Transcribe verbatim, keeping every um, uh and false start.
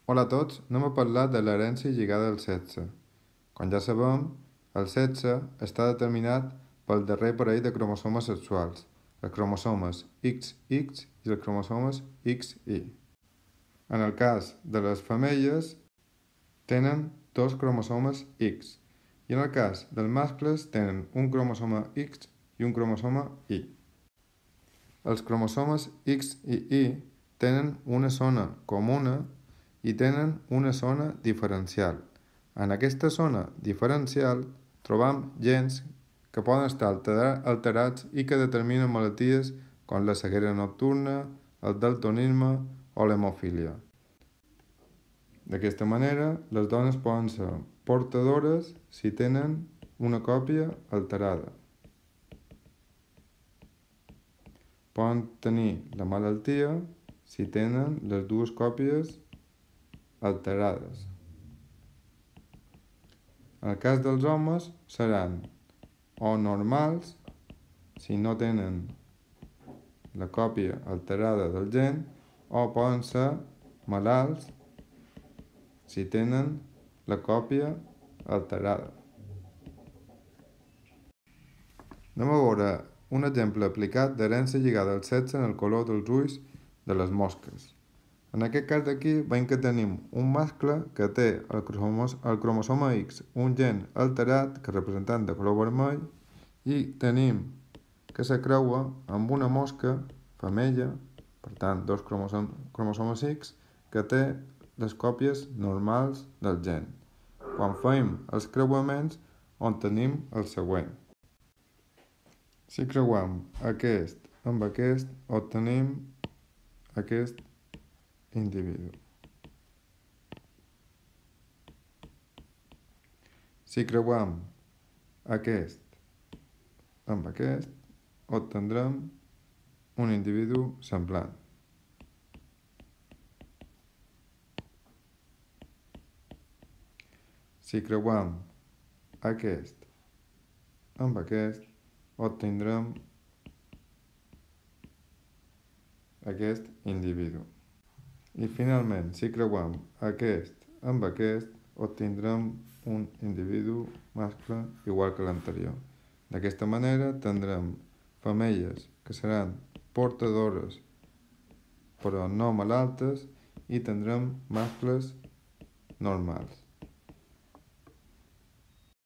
Hola a tots, anem a parlar de l'herència lligada al sexe. Com ja sabem, el sexe està determinat pel darrer parell de cromosomes sexuals, els cromosomes X X i els cromosomes X Y. En el cas de les femelles, tenen dos cromosomes X, i en el cas dels mascles tenen un cromosoma X i un cromosoma Y. Els cromosomes X i Y tenen una zona comuna i tenen una zona diferencial. En aquesta zona diferencial trobam gens que poden estar alterats i que determinen malalties com la ceguera nocturna, el daltonisme o l'hemofília. D'aquesta manera, les dones poden ser portadores si tenen una còpia alterada. Poden tenir la malaltia si tenen les dues còpies alterades. En el cas dels homes seran o normals si no tenen la còpia alterada del gen, o poden ser malalts si tenen la còpia alterada. Anem a veure un exemple aplicat d'herència lligada al sexe en el color dels ulls de les mosques. En aquest cas d'aquí veiem que tenim un mascle que té el cromos el cromosoma X, un gen alterat que representant de color vermell, i tenim que se creua amb una mosca femella, per tant dos cromosom cromosomes X, que té les còpies normals del gen. Quan fem els creuaments obtenim el següent. Si creuam aquest amb aquest, obtenim aquest individu. Si creuam aquest amb aquest, obtindrem un individu semblant. Si creuam aquest amb aquest, obtindrem aquest individu. I finalment, si creuam aquest amb aquest, obtindrem un individu mascle igual que l'anterior. D'aquesta manera tindrem femelles que seran portadores però no malaltes, i tindrem mascles normals.